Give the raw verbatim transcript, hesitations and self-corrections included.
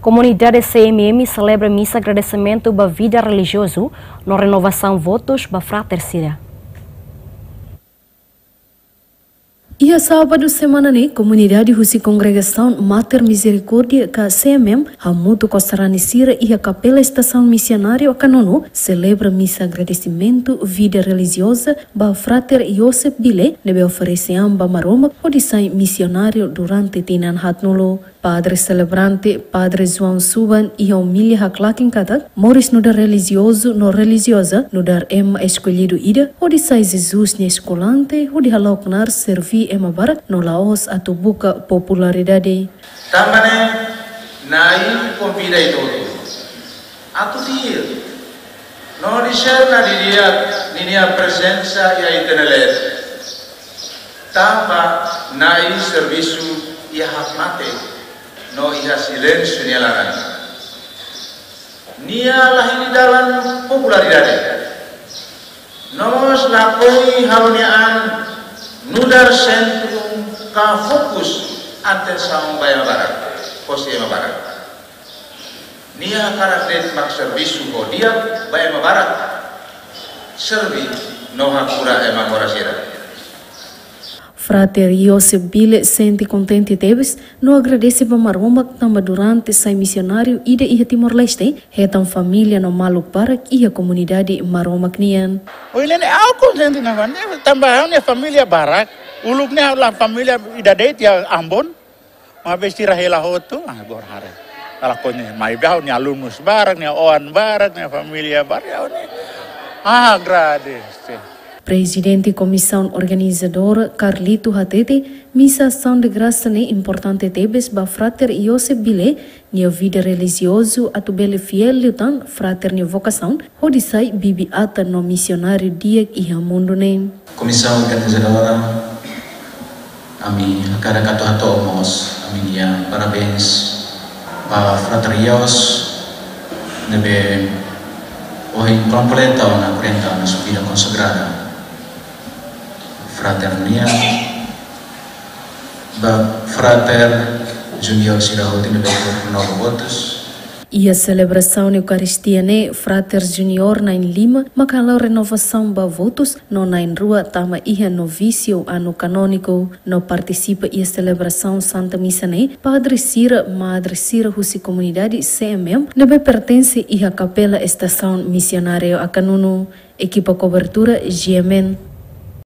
Komunidade C M M selebra misa agradesimentu ba vida relijiozu no renovasaun votus ba frater sira. Iha sábadu semana ne'e, komunidade husi kongregasaun Mater Misericórdia ka C M M, hamutuk ho sarani sira iha Kapela Estasaun Misionáriu Akanunu, selebra misa agradesimentu vida relijioza ba frater Joseph Bile, ne'ebé oferese an ba Maromak hodi sai misionáriu durante tinan haatnulu. Padre selebrante, Padre João Suban, iha omilia haklaken katak, moris nu'udar relijiozu no relijioza nu'udar ema eskollidu ida, hodi sai Jesus nia eskolante, hodi halo knaar serví ema barak no la'ós atu buka popularidade. Tanba ne'e, Na'i konvida ita hotu atu tuir no diserna didi'ak ninia prezensa iha ita-nia leet. Tanba Na'i servisu iha hakmatek no iha silénsiu nia laran. Nia la hili dalan popularidade. No mós lakohi halo nia an nu'udar sentru ka fokus atensaun ba ema barak, hosi ema barak. Nia hakarak de'it mak servisu ho di'ak ba ema barak. Serví no hakura ema moras sira. Frater Joseph Bile sente kontente tebes no agradese ba Maromak tanba durante sai misionáriu ida iha Timor-Leste, hetan família no maluk barak iha komunidade Maromak nian. Ohin ne'e ha'u kontente nafatin, tanba ha'u-nia família barak, uluk ne'e ha'u-nia família ida de'it iha Ambon, maibé sira hela hotu, ah, agora haree. Kala konya, maibé ha'u-nia alunus barak, nia oan barak, nia família barak, ha'u-nia, ah, agradese. Prezidente Komisaun Organizadora, Carlito, hatete, misa asaun de grasa ne'e importante tebes ba frater Joseph Bile, nia vida relijiozu atu bele fiél liután frater nia vokasaun, hodi sai bibi-atan no misionáriu di'ak iha mundu ne'e. Komisaun Organizadora, ami hakarak atu hato'o mós ami-nia parabéns ba frater Jos, ne'ebé ohin kompleta ona quarenta anos vida konsagrada. Frater nian, ba frater junior sira hotu ne'ebé renova votus. Iha selebrasaun Eukaristia ne'e, frater junior na'in-lima mak halo renovasaun ba votus no na'in-rua tama iha novísiu anu kanóniku. No partisipa iha selebrasaun Santa Misa ne'e, padre sira, madre sira husi komunidade C M M ne'ebé pertense iha Kapela Estasaun Misionáriu Akanunu. Ekipa kobertura G M N.